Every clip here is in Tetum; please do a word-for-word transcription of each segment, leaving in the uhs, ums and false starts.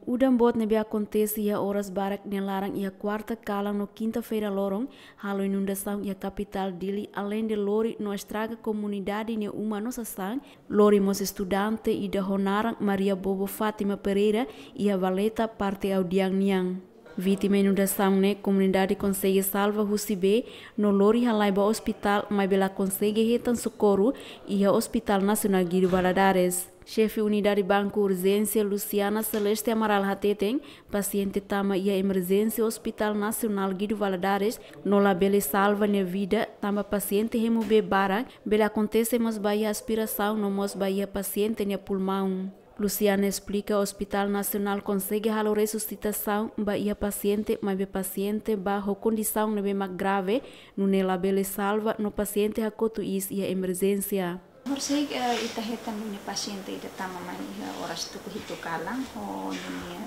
Udan boot ne'ebé akontese iha oras barak nia laran iha kuarta kalan no kinta-feira loron, halo inundasaun iha kapitál Dili, aleinde lori no estraga komunidade nia uma no sasán, lori mós estudante ida ho naran Maria Bobo Fátima Pereira iha valeta parte Audiang nian. Vítima inundasaun ne'e komunidade konsege salva husi bee no lori halai ba ospitál, maibé la konsege hetan sokorru iha Hospital Nasionál Guido Valadares. Xefe Unidade Banku Urjénsia, Luciana Celeste Amaral, hateten pasiente tama iha emerjénsia Hospital Nasionál Guido Valadares no labele salva nia vida, tanba pasiente hemu bee barak, bele akontese mós ba iha aspirasaun no mós ba iha pasiente nia pulmaun. Luciana esplika, Hospital Nasionál konsege halo resusitasaun ba iha pasiente, maibé pasiente ba ho kondisaun ne'ebé mak grave, nune'e labele salva no pasiente hakotu iis iha emerjénsia. Horisehik, eh, ita hetan duni pasiente ida tama mai iha oras tuku hitu kalan, ho ninia,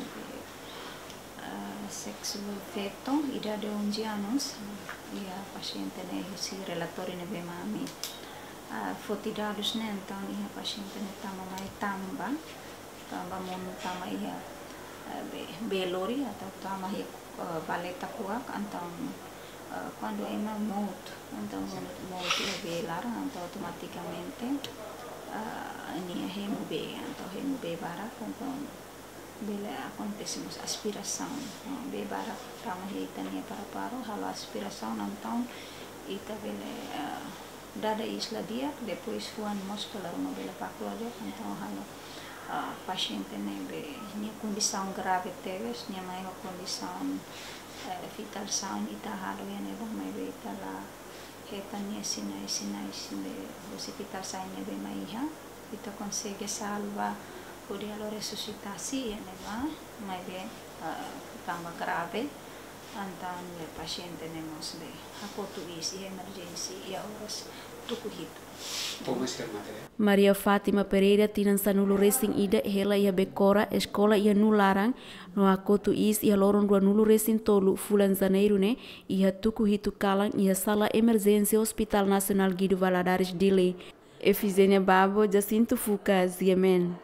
eh, sexo feto, idade onze anos. Iha pasiente ne'e husi relatóriu ne'ebé mak ami, ah, foti dadus ne'e, entaun iha pasiente ne'e tama mai tanba, tanba monu tama iha, eh, bee, bee lori atau tama iha, eh, valeta kuak, entaun, eh, kuandu ema mout, entaun mout, mout iha bee laran, entaun automatikamente, eh, nia hemu bee, entaun hemu bee barak, entaun bele akontese mós aspirasaun. Ah, bee barak tama iha ita-nia paru-paru, halo aspirasaun, entaun ita bele, ah, dada iis la di'ak, depois fuan mós kala ruma bele baku la di'ak, entaun halo, ah, pasiente ne'ebé nia kondisaun grave tebes, nia mai ho kondisaun, eh, vital sign, ita halo iha ne'ebá, maibé ita la hetan nia sinais, sinais ne'ebé husi vital sign ne'ebé mak iha. Ita konsege salva hodi halo resusitasi iha ne'ebá, maibé, eh, tanba grave, entaun pasiente ne'e mós bele hakotu iis iha emerjénsia iha oras tuku hitu. Maria Fátima Pereira, tinan sanulu-resin-ida, hela iha Bekora, eskola iha Nularan, no hakotu iis iha loron ruanulu-resin-tolu fulan Janeiru ne'e, iha tuku hitu kalan, iha sala emerjénsia Hospital Nasionál Guido Valadares, Dili. Efigénia Babo, Jacinto Fuca, G M N.